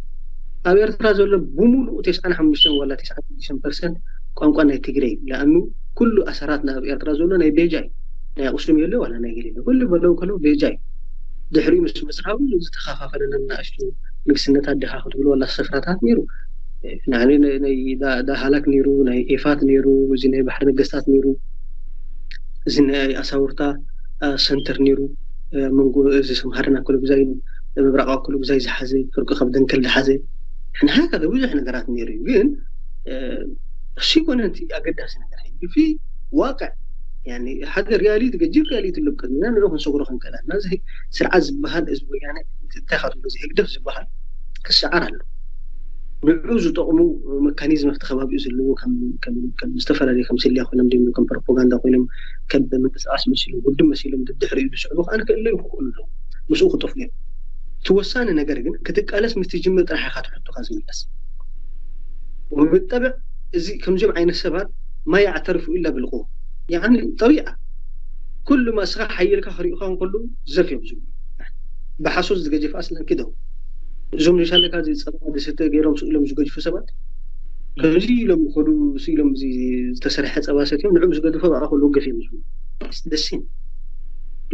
ኣብ ኤርትራ ዘሎ ብምሉኡ ተስዓን ሓሙሽተን ዋላ ተስዓን ሽዱሽተን ፐርሰንት ቋንቋ ናይ ትግረ እዩ። ለኣኑ ኩሉ ኣሰራት ናብ ኤርትራ ዘሎ ናይ ቤጃ እዩ። ናይ ኣቁስሉም የለ ዋላ ናይ ገለ ኩሉ በለው ከለው ቤጃ እዩ። ድሕሪኡ ምስ መፅሓዊ ዝተኻፋፈለና ንኣሽቱ ንግስነታት ዲኻ ክትብሉ ዋላ ስፍራታት ነይሩ። ናይ ሃላክ ነይሩ፣ ናይ ኤፋት ነይሩ፣ እዚ ናይ ባሕሪ ነገስታት ነይሩ፣ እዚ ናይ ኣሳውርታ ሰንተር ነይሩ። መንጎ እዚ ሰምሃርን ኣኮለጉዛይን ምብራቕ ኣኮለጉዛይ ዝሓዘ፣ ፍርቂ ካብ ደንከል ዝሓዘ፣ ንሃካ ብዙሕ ነገራት ነይሩ እዩ። ግን እሱ ይኮነ እቲ ኣገዳሲ ነገር ሕጂ ፊ ዋቅዕ ሓደ ሪያሊቲ ገጂፍ ሪያሊቲ ኣሎ ቅድሚና ንዑ ክንሰግሮ ክንክእል ኣለና። እዚ ስርዓት ዝበሃል እዚ ወያነ እንታይ ካትብሎ እዚ ህግደፍ ዝበሃል ክሰዓር ኣሎ። ንዑ ዝጠቕሙ መካኒዝም ኣብቲ ከባቢኡ ዘለዎ ከም ዝተፈላለዩ ከም ስልያ ኮይኖም ደ ከም ፕሮፓጋንዳ ኮይኖም ከም ምንቅስቃስ መሲሎም ውድብ መሲሎም ድድሕሪኡ ዝስዕቡ ከዓ ክእለዩ ክኽእሉ ኣለዉ። ምስኡ ክጠፍኡ እዮም። እቲ ወሳኒ ነገር ግን ክትቃለስ ምስ ትጅምር ጥራሕ ኢኻ ትሕቶኻ ዝምለስ። ወብጠብዕ እዚ ከምዚኦም ዓይነት ሰባት ማ ያዕተርፉ ኢላ ብልቁ ያኒ ጠቢዓ ኩሉ ማስኻ ሓየልካ ክሪእኻ እንከሉ ዘፍ እዮም ዝብሉ። ብሓሶት ዝገጀፍ ኣስለን ክደው እዞም ንሻለካ እዚ ፀባ ዝስተ ገይሮም ስኢሎም ዝገጅፉ ሰባት ከምዚ ኢሎም ዝኸዱ ስኢሎም ዝተሰርሐ ፀባ ሰትዮም ንዕም ዝገድፎ ብኣ ከሉ ገፍ እዮም ዝብሉ። ደሲን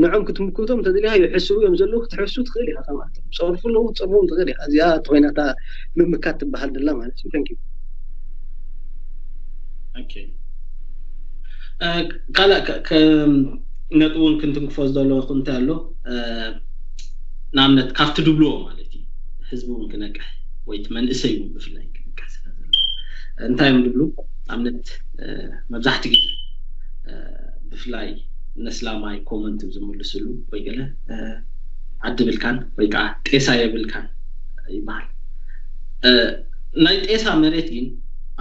ንዖም ክትምክቶም ተደሊኻ ይሕስቡ እዮም ዘለዉ ክትሕሱ ትኽእል ኢኻ። ከማት ፀርፉ ኣለዉ ትፀርፎም ትኽእል ኢኻ። እዚኣ ተኮይናታ ምምካት ትበሃል ደላ ማለት እዩ። ተንኪ ካልእ ነጥቡ እውን ክንትንክፎ ዝደለኹ እንታይ ኣሎ ንኣብነት ካብቲ ድብልዎ ማለት እዩ ህዝቢ እውን ክነቅሕ ወይ እቲ መንእሰይ እውን ብፍላይ ክነቅሕ ስለ ዘሎ እንታይ እዮም ድብሉ ኣብነት መብዛሕቲ ግዜ ብፍላይ ነስላማይ ኮመንት ዝምልስሉ ወይ ገለ ዓዲ ብልካን ወይ ከዓ ጤሳ የብልካን ይበሃል። ናይ ጤሳ መሬት ግን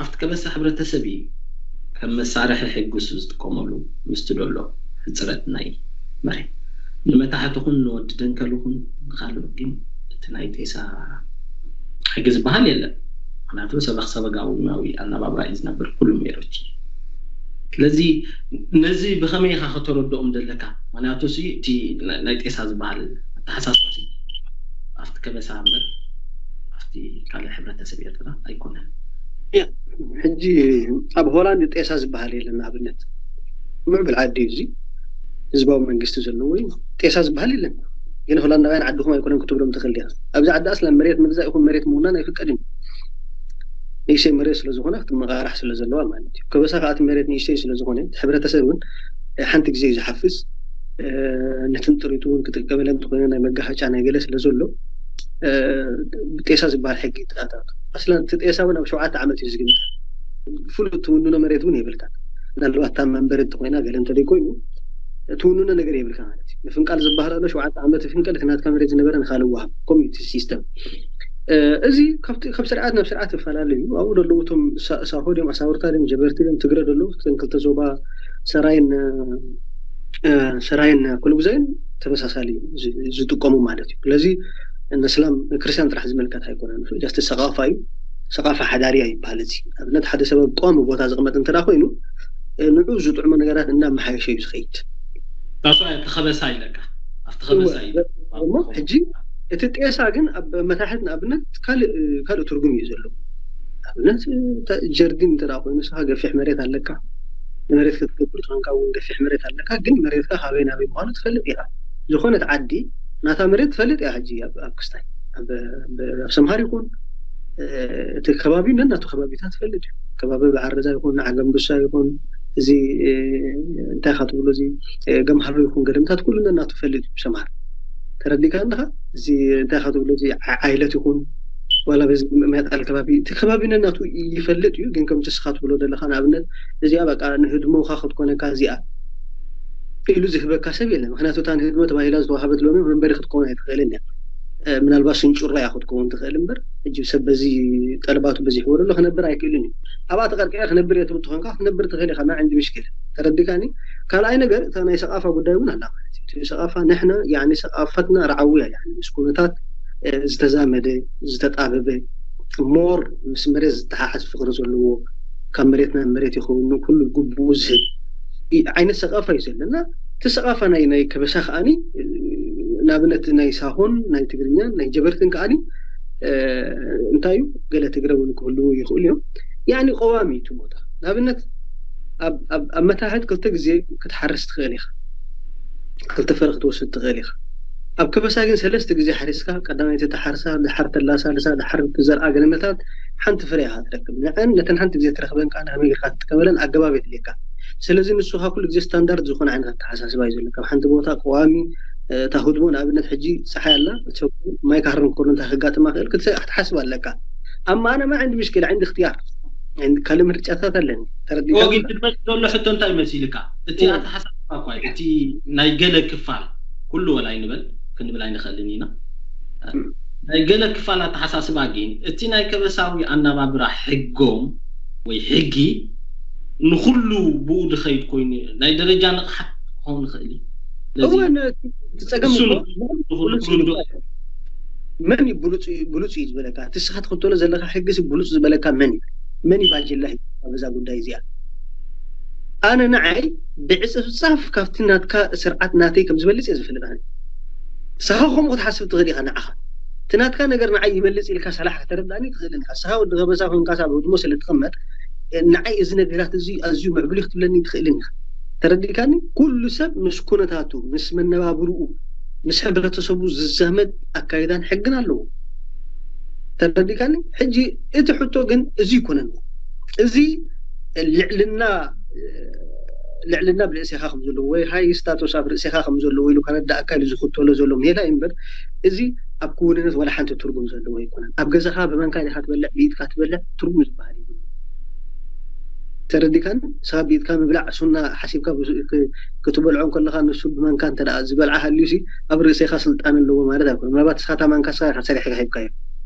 ኣብቲ ከበሳ ሕብረተሰብ እዩ ከም መሳርሒ ሕግሱ ዝጥቀመሉ ምስቲ ደሎ ሕፅረት ናይ መሬት ንመታሕትኹን ንወዲ ደንከልኹን ንካልእ ግን እቲ ናይ ጤሳ ሕጊ ዝበሃል የለን። ምክንያቱ ሰበክ ሰበጋውናዊ ኣናባብራ እዩ ዝነብር ኩሉ ሜሮች። ስለዚ ነዚ ብኸመይ ኢኻ ከተረድኦም ዘለካ? ምክንያቱ እቲ ናይ ጤሳ ዝበሃል ኣተሓሳስባ ኣብቲ ከበሳ እምበር ኣብቲ ካልእ ሕብረተሰብ ኤርትራ ኣይኮነን። ሕጂ ኣብ ሆላንድ ጤሳ ዝበሃል የለን። ንኣብነት ምዕብል ዓዲ እዩ እዚ ህዝባዊ መንግስቲ ዘለዎ እዩ። ጤሳ ዝበሃል የለን። ግን ሆላንዳውያን ዓድኹም ኣይኮነን ክትብሎም ትኽእል ዲኻ? ኣብዚ ዓዲ ኣስላ መሬት ምግዛእ ይኹን መሬት ምውናን ኣይፍቀድን እዩ። ንእሽተይ መሬት ስለዝኾነ ክትመቃራሕ ስለዘለዋ ማለት እዩ። ከበሳ ከዓ እቲ መሬት ንእሽተይ ስለዝኾነ እቲ ሕብረተሰብ እውን ሓንቲ ግዜ እዩ ዝሓፍዝ። ነትን ጥሪቱ እውን ክጥቀመለን እንተኮይነ ናይ መጋሃጫ ናይ ገለ ስለዘሎ ብጤሳ ዝበሃል ሕጊ ይተኣታቱ። ኣስላ እቲ ጤሳ እውን ኣብ ሸውዓተ ዓመት እዩ ዝግምት። ፍሉጥ ትውንኖ መሬት እውን የብልካ። ምናልባት እታ መንበሪ እንተኮይና ገለ እንተደይኮይኑ ትውንኖ ነገር የብልካ ማለት እዩ። ምፍንቃል ዝበሃል ኣሎ ሸውዓተ ዓመት ፍንቀል እቲ ናትካ መሬት ዝነበረ ንካልእ ወሃብ ኮሚኒቲ ሲስተም። እዚ ካብ ስርዓት ናብ ስርዓት ይፈላለ እዩ። ኣብኡ ዘለዉ እቶም ሳሆ ድዮም ኣሳውርታ ድዮም ጀበርቲ ድዮም ትግረ ዘለዉ እተን ክልተ ዞባ ሰራይን ሰራይን ኩሉ ግዜን ተመሳሳሊ ዝጥቀሙ ማለት እዩ። ስለዚ ንእስላም ክርስቲያን ጥራሕ ዝምልከት ኣይኮነን። ጃስት ሰቃፋ እዩ። ሰቃፋ ሓዳርያ ይበሃል። እዚ ኣብነት ሓደ ሰበብ ቀዋሚ ቦታ ዝቕመጥ እንተ ኮይኑ ንዑ ዝጥዕሞ ነገራት እናመሓየሸ እዩ ዝኸይድ። ታስዋ ተኸበሳ ይለካ ኣብቲ ከበሳ እዩ እሞ ሕጂ እቲ ጤሳ ግን ኣብ መታሕት ንኣብነት ካልእ ካልእ ትርጉም እዩ ዘለዎ። ኣብነት ጀርዲን እንተ ኮይኑ ንስኻ ገፊሕ መሬት ኣለካ ንመሬት ክትገብር ትኾንካ እውን ገፊሕ መሬት ኣለካ ግን መሬትካ ካበይ ናበይ ምዃኑ ትፈልጥ ኢኻ። ዝኾነት ዓዲ ናታ መሬት ትፈልጥ እያ። ሕጂ ኣብ ክስታይ ኣብ ሰምሃር ይኹን እቲ ከባቢ ነናቱ ከባቢታት ትፈልጥ እዩ። ከባቢ በዓረዛ ይኹን ዓገምብሳ ይኹን እዚ እንታይ ካ ትብሎ እዚ ገምሃሎ ይኹን ገደምታት ኩሉ ነናቱ ትፈልጥ እዩ። ሰምሃር ተረዲካ ኣለካ እዚ እንታይ ካ ትብሎ እዚ ዓይለት ይኹን ዋላ በዚ መጣል ከባቢ እቲ ከባቢ ነናቱ ይፈልጥ እዩ። ግን ከምቲ ስኻ ትብሎ ዘለካ ንኣብነት እዚኣ በቃ ንህድሞካ ክትኮነካ እዚኣ ኢሉ ዝህበካ ሰብ የለን። ምክንያቱ እታ ንህድሞ ተባሂላ ዝተዋሃበት ሎሚ መንበሪ ክትከውን ኣይትኽእልን እያ። ምናልባት ስንጩራ እያ ክትከውን ትኽእል እምበር ሕጂ ሰብ በዚ ጠለባቱ በዚሕዎ ዘሎ ክነብር ኣይክእልን እዩ። ኣብኣ ተቐርቂዐ ክነብር እየ ትብል ትኾንካ ክትነብር ትኽእል ኢኻ። ማ ዕንዲ ምሽክል ተረዲካኒ። ካልኣይ ነገር እታ ናይ ሰቃፋ ጉዳይ እውን ኣላ ማለት እዩ። ሰቃፋ ንሕና ያኒ ሰቃፈትና ረዓዊ እያ ያኒ ምስ ኩነታት ዝተዛመደ ዝተጣበበ ሞር ምስ መሬት ዝተሓሓዝ ፍቅሪ ዘለዎ ካብ መሬት ናብ መሬት ይኸውን ኩሉ ግቡኡ ዝህብ ዓይነት ሰቃፋ እዩ ዘለና። እቲ ሰቓፋ ናይ ናይ ከበሳ ከዓኒ ንኣብነት ናይ ሳሆን ናይ ትግርኛን ናይ ጀበርትን ከዓኒ እንታይ እዩ ገለ ትግረ እውን ክህልዉ ይኽእሉ እዮም። ያኒ ቀዋሚ እዩ እቲ ቦታ። ንኣብነት ኣብ መታሕት ክልተ ግዜ ክትሓርስ ትኽእል ኢኻ፣ ክልተ ፍረ ክትወስድ ትኽእል ኢኻ። ኣብ ከበሳ ግን ሰለስተ ግዜ ሓሪስካ፣ ቀዳማይቲ ትሓርሳ፣ ድሓር ተላሳልሳ፣ ድሓር ትዘርኣ ገለመታት ሓንቲ ፍረ ኢኻ ትረክብ። ንዐን ነተን ሓንቲ ግዜ ትረኽበን ከዓ ንኸመይ ጌርካ ትጥቀመለን ኣገባብ የድልየካ። ስለዚ ንስኻ ኩሉ ግዜ ስታንዳርድ ዝኾነ ዓይነት ኣተሓሳስባ እዩ ዘሎ። ካብ ሓንቲ ቦታ ቀዋሚ እታ ህድሞ ንኣብነት ሕጂ ፀሓይ ኣላ፣ ማይ ካህርን ኮርንታ ከጋጥማ ክእል ክትሓስብ ኣለካ። ኣማ ኣነ ማ ዕንዲ ምሽክል ዕንዲ እክትያር ካልእ ምርጫታት ኣለኒ። ተረዲኻ? ወጊ ክትመጽእ ዘሎ ሕቶ እንታይ መሲልካ? እቲ ኣተሓሳስባ እኳ እዩ። እቲ ናይ ገለ ክፋል ኩሉ ወላ ይንበል ክንብል ኣይንኽእልን ኢና። ናይ ገለ ክፋል ኣተሓሳስባ ግን እቲ ናይ ከበሳዊ ኣናባብራ ሕጎም ወይ ሕጊ ንኹሉ ብኡ ድኸይድ ኮይኑ ናይ ደረጃ ንቕሓት ክኸውን ይኽእል እዩ። ስለዚ እወ እቲ ጸገም እሱ እኮ ንኹሉ ንኹሉ መን እዩ ብሉጽ እዩ ዝበለካ? እቲ ንስኻ ትኽተሎ ዘለካ ሕጊ ሲ ብሉጽ ዝበለካ መን እዩ? መን እዩ ባጀላ ሂብካ በዛ ጉዳይ እዚኣ? ኣነ ንዓይ ብዕጽፍጻፍ ካብቲ ናትካ ስርዓት ናተይ ከም ዝበልጽ እየ ዝፈልጥ። ኣነ ንስኻ ከምኡ ክትሓስብ ትኽእል ኢኻ። ንዓኻ እቲ ናትካ ነገር ንዓይ ይበልጽ ኢልካ ሰላሕ ከተረዳእኒ ትኽእልን ኢኻ። ንስኻ ወዲ ከበሳ ኮንካ ኣብ ህድሞ ስለ ትቕመጥ ንዓይ እዚ ነገራት እዚ ኣዝዩ ምዕቡል እዩ ክትብለኒ ትኽእልን ኢኻ። ተረዲእካኒ? ኩሉ ሰብ ምስ ኩነታቱ፣ ምስ መነባብርኡ፣ ምስ ሕብረተሰቡ ዝዛመድ ኣካይዳን ሕግን ኣለዎ። ተረዲእካኒ? ሕጂ እቲ ሕቶ ግን እዚ ይኮነን። እዚ ልዕልና ልዕልና ኣብ ርእሴኻ ከም ዘለዎ ወይ ሃይ ስታቱስ ኣብ ርእሴኻ ከም ዘለዎ ኢሉ ከረዳእካ ኢሉ ዝኽተሎ ዘሎ ሜላ እዩ እምበር፣ እዚ ኣብ ክውንነት ወላ ሓንቲ ትርጉም ዘለዎ ኣይኮነን። ኣብ ገዛኻ ብመንካ ዲኻ ትበልዕ፣ ብኢድካ ትበልዕ፣ ትርጉም ዝበሃል የብሉን። ተረዲእካኒ? ንስኻ ብኢድካ ምብላዕ ሱና ሓሲብካ ብዙ- ክ- ክትበልዖ እንከለኻ ንሱ ብመንካ እንተ ደኣ ዝበልዓ ሃልዩ ሲ ኣብ ርእሴኻ ስልጣን ኣለዎ ማለት ኣይኮነን። ምናልባት ንስኻ እታ ማንካ ንስኻ ኢኻ ሰሪሕካ ሂብካዮ።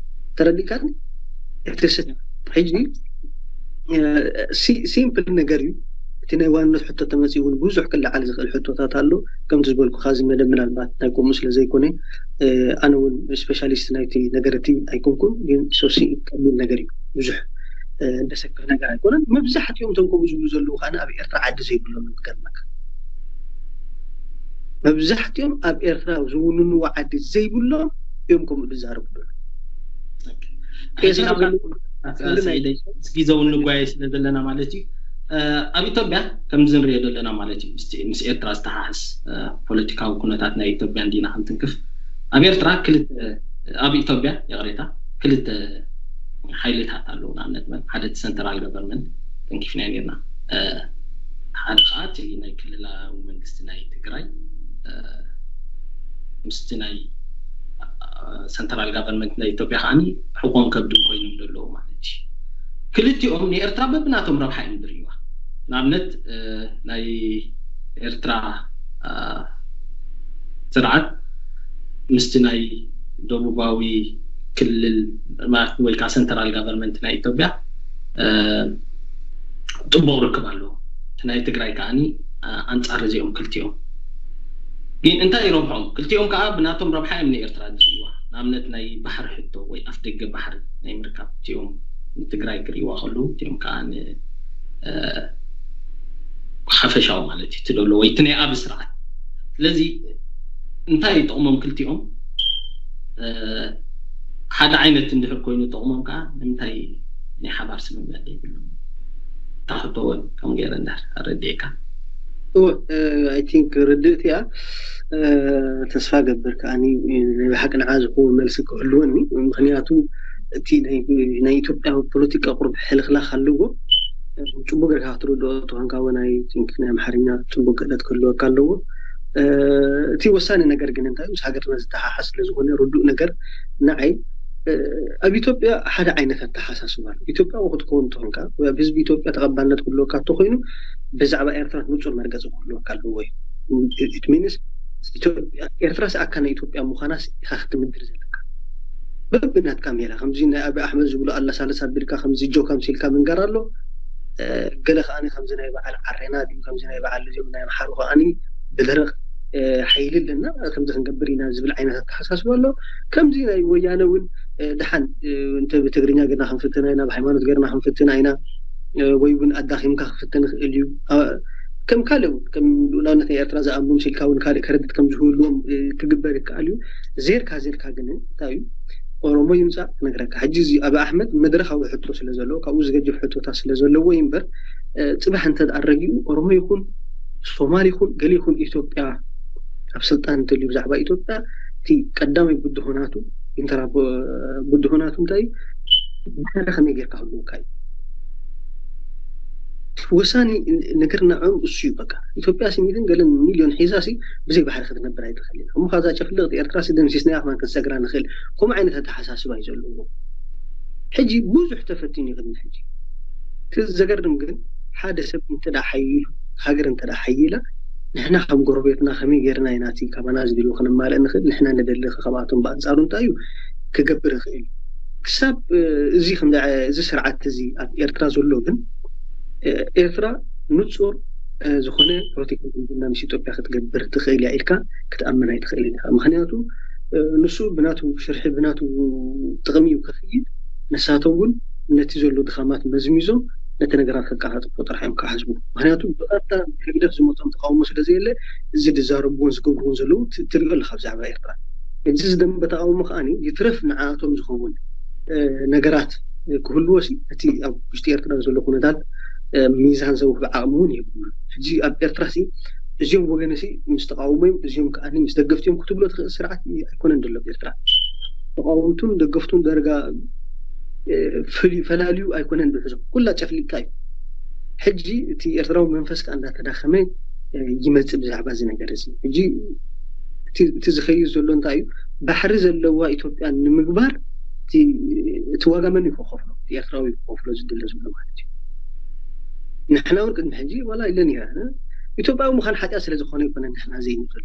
ተረዲእካኒ? እቲ ስ- ሕጂ እ፣ ሲ- ሲምፕል ነገር እዩ። እቲ ናይ ዋንነት ሕቶ ተመፂኡ እውን ብዙሕ ክለዓል ዝኽእል ሕቶታት ኣሎ። ከምቲ ዝበልኩኻ እዚ መደብ ምናልባት ናይ ከምኡ ስለ ዘይኮነ እ፣ ኣነ እውን ስፔሻሊስት ናይቲ ነገር እቲ ኣይኮንኩን፣ ግን ሶሲ ቀሊል ነገር እዩ። ብዙሕ እ፣ ደሰክፍ ነገር ኣይኮነን። መብዛሕትኦም እቶም ከምኡ ዝብሉ ዘለዉ ከዓ ኣብ ኤርትራ ዓዲ ዘይብሎም እዮም። ክገርመካ መብዛሕትኦም ኣብ ኤርትራ ዝውንንዎ ዓዲ ዘይብሎም እዮም ከምኡ ዝዛረቡ ዘለዉ። ሕጂ ናብታ ስዒደይ፣ ምስ ግዜ እውን ንጓየ ስለ ዘለና ማለት እዩ። እ፣ ኣብ ኢትዮጵያ ከምዚ ንሪኦ ዘለና ማለት እዩ፣ ምስቲ- ምስ ኤርትራ ዝተሓሓስ እ፣ ፖለቲካዊ ኩነታት ናይ ኢትዮጵያ እንዲና ክንትንክፍ፣ ኣብ ኤርትራ ክልተ ኣብ ኢትዮጵያ ይቕሬታ ክልተ ሓይልታት ኣለዉ። ንኣብነት መን ሓደ እቲ ሰንትራል ገቨርንመንት ተንኪፍና ነርና፣ እ፣ ሓደ ከዓ እቲ ናይ ክልላዊ መንግስቲ ናይ ትግራይ እ፣ ምስቲ ናይ ሰንትራል ጋቨርንመንት ናይ ኢትዮጵያ ከዓኒ ሕቆን ከብድን ኮይኖም ዘለዉ ማለት እዩ። ክልቲኦም ንኤርትራ በብናቶም ረብሓ እዮም ዝርእይዋ። ንኣብነት እ፣ ናይ ኤርትራ እ፣ ስርዓት ምስቲ ናይ ደቡባዊ ክልል ማለት ወይ ከዓ ሰንትራል ጋቨርንመንት ናይ ኢትዮጵያ እ፣ ጥቡቕ ርክብ ኣለዎ። እቲ ናይ ትግራይ ከዓኒ እ፣ ኣንጻር እዚኦም ክልቲኦም ግን እንታይ ይረብሖም? ክልቲኦም ከዓ ብናቶም ረብሓ እዮም ንኤርትራ ዝርእይዋ። ንኣብነት ናይ ባሕሪ ሕቶ ወይ ኣፍ ደገ ባሕሪ ናይ ምርካብ እቲኦም ንትግራይ ክርእይዋ ከለዉ እቲኦም ከዓ ን እ፣ ሓፈሻዊ ማለት እዩ እቲ ደሎ ወይ እቲ ናይ ኣብ ስርዓት። ስለዚ እንታይ ይጠቕሞም ክልቲኦም? እ፣ ሓደ ዓይነት እንድሕር ኮይኑ ጠቕሞም ከዓ ንምንታይ ናይ ሓባር ስምምዕ ዘይብሎም? እታ ሕቶ እውን ከም ገይረ እንድሕር ኣረዲእካ። I think ርድእቲ እያ። እ፣ ተስፋ ገብር ከዓኒ ናይ ብሓቂ ንዓ ዝኸውን መልሲ ክህልወኒ። ምክንያቱ እቲ ናይ ናይ ኢትዮጵያ ፖለቲካ ቁሩብ ሕልኽላኽ ኣለዎ። ጽቡቅ ጌርካ ክትርድኦ ተኾንካ እውን I think ናይ ኣምሓርኛ ጽቡቅ ክእለት ክህልወካ ኣለዎ። እ፣ እቲ ወሳኒ ነገር ግን እንታይ እዩ? ምስ ሃገርና ዝተሓሓዝ ስለ ዝኾነ ርዱእ ነገር ንዓይ እ፣ ኣብ ኢትዮጵያ ሓደ ዓይነት ኣተሓሳስባ ኣሎ። ኢትዮጵያዊ ክትከውን እንተኾንካ ወይ ኣብ ህዝቢ ኢትዮጵያ ተቐባልነት ክህልወካ እንተኾይኑ ብዛዕባ ኤርትራ ንጹር መርገጺ ክህልወካ ኣለዎ እዩ። It means ኢትዮጵያ ኤርትራ ሰኣካ ናይ ኢትዮጵያ ምዃና ኢኻ ክትምድር ዘለካ። በብናትካ ሜላ ከምዚ ናይ ኣብይ ኣሕመድ ዝብሉ ኣለሳለስ ኣቢልካ ከምዚ ጆክ ኣምሲልካ ምንጋር ኣሎ። እ፣ ገለ ከዓኒ ከምዚ ናይ በዓል ዓሬና ድዩ ከምዚ ናይ በዓል እዚኦም ናይ ኣምሓሩ ከዓኒ ብደረቕ እ፣ ሓይሊ ኣለና ከምዚ ክንገብር ኢና ዝብል ዓይነት ኣተሓሳስባ ኣሎ። ከምዚ ናይ ወያነ እውን እ፣ ደሓን እ፣ እንተ ብትግርኛ ገርና ክንፍትና ኢና፣ ብሃይማኖት ገርና ክንፍትና ኢና እ፣ ወይ እውን ኣዳኺምካ ክፍትን ይኽእል እዩ። እ፣ ከም ካልእ እውን ከም ልኡላውነት ናይ ኤርትራ ዝኣምኑ ምስ ኢልካ እውን ካልእ ከረድት ከም ዝህልዎም ክግበር ይከኣል እዩ። ዜርካ ዜርካ ግን እንታይ እዩ ኦሮሞ ይምፃእ ክነግረካ። ሕጂ እዚ ኣብ ኣሕመድ መድረኻዊ ሕቶ ስለ ዘለዎ ካብኡ ዝገጅፍ ሕቶታት ስለ ዘለዎ እዩ እምበር፣ ፅባሕ እንተ ኣረጊኡ ኦሮሞ ይኹን ሶማል ይኹን ገለ ይኹን ኢትዮጵያ ኣብ ስልጣን እንተልዩ ብዛዕባ ኢትዮጵያ እቲ ቀዳማይ ብድሆናቱ ኢንተራ ብድሆናቱ እንታይ እዩ? ባሕሪ ከመይ ጌርካ ክህልወካ እዩ? ወሳኒ ነገር ንዕኦም እሱ እዩ። በቃ ኢትዮጵያ ሲ ሚእትን ገለን ሚልዮን ሒዛ ሲ ብዘይ ባሕሪ ክትነብር ኣይትኽእልን። እሞ ካብዛ ጨፍልቕቲ ኤርትራ ሲ ደምሲስናያ ከማን ክንሰግራ ንኽእል። ከምኡ ዓይነት ኣተሓሳስባ እዩ ዘለዎ። ሕጂ ብዙሕ ተፈቲኑ እዩ ቅድሚ ሕጂ። እቲ ዘገርም ግን ሓደ ሰብ እንተ ደኣ ሓይሉ፣ ሃገር እንተ ደኣ ሓይላ፣ ንሕና ከም ጎረቤትና ከመይ ጌርና ኢና እቲ ካባና ዝድልዩ ከነማልእ ንኽእል? ንሕና ንደሊ ከ ካብኣቶም ብኣንጻሩ እንታይ እዩ ክገብር ይኽእል? ክሳብ እዚ ስርዓት እዚ ኣብ ኤርትራ ዘሎ ግን ኤርትራ ንጹር ዝኾነ ፖለቲካዊ ዝምድና ምስ ኢትዮጵያ ክትገብር ትኽእል እያ ኢልካ ክትኣምን ኣይትኽእልን ኢኻ። ምኽንያቱ ንሱ ብናቱ ሽርሒ ብናቱ ጥቕሚ እዩ ከኽይድ። ንሳቶም እውን ነቲ ዘሎ ድኻማት መዝሚዞም ነቲ ነገራት ከቀላጥፎ ጥራሕ እዮም ክሓስቡ። ምኽንያቱ ብቐጥታ ብህግደፍ ዝመፆም ተቃውሞ ስለ ዘየለ እዚ ዝዛረብዎን ዝገብርዎን ዘለዉ ትሪኦ ኣለካ ብዛዕባ ኤርትራ። እዚ ዝደንበ ተቃውሞ ከዓኒ ይትረፍ ንዓቶም ዝኸውን ነገራት ክህልዎ ሲ እቲ ኣብ ውሽጢ ኤርትራ ዘሎ ኩነታት ሚዛን ዘውህብ ዓቕሚ እውን የብሉን። ሕጂ ኣብ ኤርትራ ሲ እዚኦም ወገን ሲ ምስ ተቃውሞ እዮም እዚኦም ከዓኒ ምስ ደገፍቲ እዮም ክትብሎ ትኽእል ስርዓት ኣይኮነን ዘሎ ኣብ ኤርትራ። ተቃወምቱን ደገፍቱን ዳርጋ ፈላልዩ ኣይኮነን ዝሕዞ ኩላ ጨፍሊቅካ እዩ። ሕጂ እቲ ኤርትራዊ መንፈስ ከዓ እንዳተዳኸመ ይመፅእ ብዛዕባ እዚ ነገር እዚ። ሕጂ እቲ ዝኸይድ ዘሎ እንታይ እዩ? ባሕሪ ዘለዋ ኢትዮጵያ ንምግባር እቲ ዋጋ መን እዩ ክኸፍሎ? ኤርትራዊ ክኸፍሎ ዝድለ ዘሎ ማለት እዩ። ንሕና እውን ቅድሚ ሕጂ ዋላ ኢለን ኢና ኢትዮጵያዊ ምዃን ሓጢኣት ስለ ዝኾነ ይኮነ ንሕና ዘይንደሎ።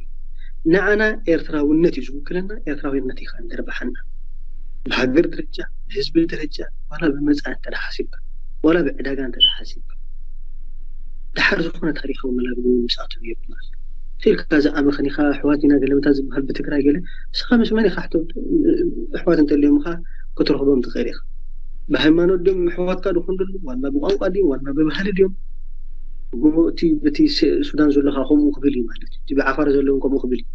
ንዓና ኤርትራውነት እዩ ዝውክለና። ኤርትራውነት ኢኻ እንደርባሓና ብሃገር ደረጃ ብህዝቢ ደረጃ ዋላ ብመፃ እንተ ሓሲብካ ዋላ ብዕዳጋ እንተ ሓሲብካ ድሓር ዝኾነ ታሪካዊ መላግቢ ምስኣቶም የብልናል። ኢልካ ዝኣመኸኒኻ ኣሕዋት ኢና ገለመታ ዝበሃል ብትግራይ ገለ ንስኻ ምስ መን ኢኻ ኣሕዋት እንተልዮምኻ ክትረኽቦም ትኽእል ኢኻ። ብሃይማኖት ድም ኣሕዋትካ ድኾን ደሉ ዋላ ብቋንቋ ድም ዋላ ብባህሊ ድም እቲ በቲ ሱዳን ዘለካ ከምኡ ክብል እዩ ማለት እዩ። ብዓፋር ዘለውን ከምኡ ክብል እዩ።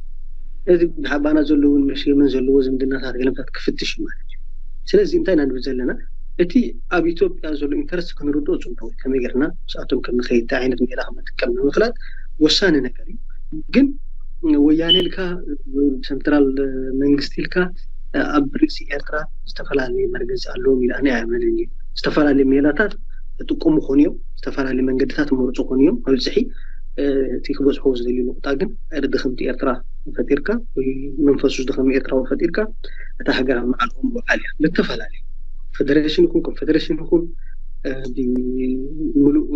እዚ ብሓባና ዘለውን ምስ የመን ዘለዎ ዝምድናታት ገለምታት ክፍትሽ እዩ ማለት እዩ። ስለዚ እንታይ ኢና ንብል ዘለና? እቲ ኣብ ኢትዮጵያ ዘሎ ኢንተረስት ክንርድኦ ፅቡቅ እዩ። ከመይ ጌርና ምስኣቶም ከም ንኸይድ እንታይ ዓይነት ሜላ ከም ንጥቀም ንምፍላጥ ወሳኒ ነገር እዩ። ግን ወያነ ኢልካ ሰንትራል መንግስቲ ኢልካ ኣብ ርእሲ ኤርትራ ዝተፈላለዩ መርገፂ ኣለዎም ኢሉ ኣነ ኣይኣምንን እየ። ዝተፈላለዩ ሜላታት ይጥቀሙ ኮን እዮም፣ ዝተፈላለዩ መንገድታት ይመርፁ ኮን እዮም። መብፅሒ እቲ ክበፅሖ ዝደልዩ ንቁጣ ግን ድኽምቲ ኤርትራ ፈጢርካ ወይ መንፈሱ ዝደኸመ ኤርትራዊ ፈጢርካ እታ ሃገር ኣብ መዓልኦም ምውዓል እያ። ብተፈላለዩ ፌደሬሽን ይኹን ኮንፌደሬሽን ይኹን ብምሉእ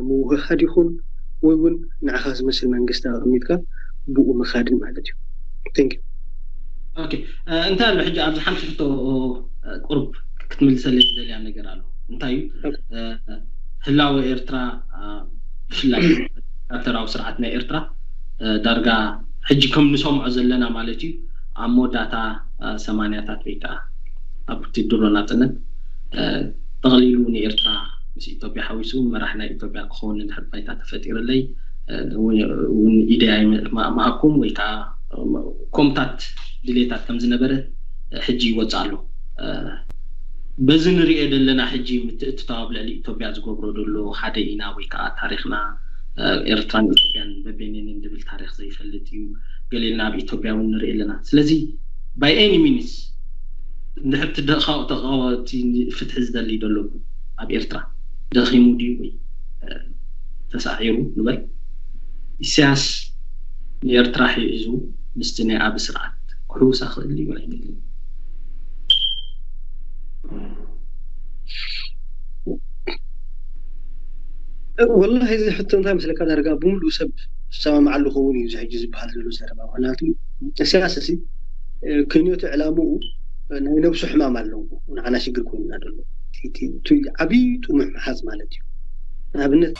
ምውህሃድ ይኹን ወይ እውን ንዓኻ ዝመስል መንግስቲ ኣቐሚጥካ ብኡ ምኻድን ማለት እዩ። Thank you። ኦኬ፣ እንታይ ኣሎ ሕጂ ኣብዚ ሓንቲ ሕቶ ቁርብ ክትምልሰለይ ዝደልያ ነገር ኣሎ። እንታይ እዩ ህላወ ኤርትራ ብፍላይ ወታደራዊ ስርዓት ናይ ኤርትራ ዳርጋ ሕጂ ከም ንሰምዖ ዘለና ማለት እዩ ኣብ መወዳእታ ሰማንያታት ወይ ከዓ ኣብ ድሮ ናፅነት ጠቕሊሉ ንኤርትራ ምስ ኢትዮጵያ ሓዊሱ መራሕ ናይ ኢትዮጵያ ክኸውን እንድሕር ባይታ ተፈጢርለይ እውን ኢደይ ኣይምሃብኩም ወይ ከዓ ከምታት ድሌታት ከም ዝነበረ ሕጂ ይወፅእ ኣሎ። በዚ ንሪኦ ዘለና ሕጂ ምትእትታው ኣብ ልዕሊ ኢትዮጵያ ዝገብሮ ዘሎ ሓደ ኢና ወይ ከዓ ታሪክና ኤርትራን ኢትዮጵያን በበይነንን ዝብል ታሪክ ዘይፈልጥ እዩ። ገሊልና ኣብ ኢትዮጵያ እውን ንርኢ ኣለና። ስለዚ by any means እንድሕር እቲ ተቃወቲ ፍትሒ ዝደሊ ዘሎ ኣብ ኤርትራ ደኺሙ ድዩ ወይ ተሳዒሩ ንበል ኢሳያስ ንኤርትራ ሒዙ ምስቲ ናይ ኣብ ስርዓት ክሕውሳ ክእል ድዩ ኣይደልን? ወላሂ እዚ ሕቶ እንታይ መስለካ ዳርጋ ብምሉእ ሰብ ዝሰማምዓሉ ክኸውን እዩ እዚ ሕጂ ዝበሃል ዘሎ ዘረባ። ምክንያቱ ኢሳያስ እዚ ክንዮቱ ዕላምኡ ናይ ነብሱ ሕማም ኣለዎ። ንዓና ሽግር ኮይኑና ዘሎ ዓብዪ ጥሙሕ ምሓዝ ማለት እዩ። ንኣብነት